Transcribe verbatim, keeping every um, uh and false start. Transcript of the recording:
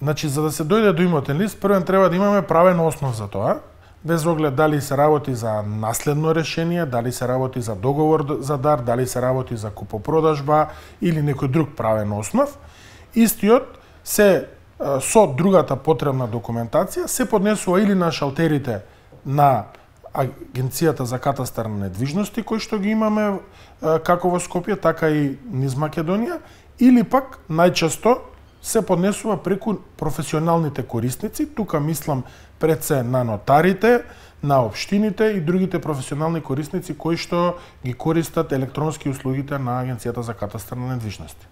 Значи, за да се дојде до имотен лист, првен треба да имаме правен основ за тоа, без оглед дали се работи за наследно решение, дали се работи за договор за дар, дали се работи за купопродажба или некој друг правен основ. Истиот се со другата потребна документација се поднесува или на шалтерите на Агенцијата за катастар на недвижности, кои што ги имаме како во Скопје, така и низ Македонија, или пак најчесто се поднесува преку професионалните корисници, тука мислам пред се на нотарите, на општините и другите професионални корисници кои што ги користат електронски услугите на Агенцијата за катастар на недвижности.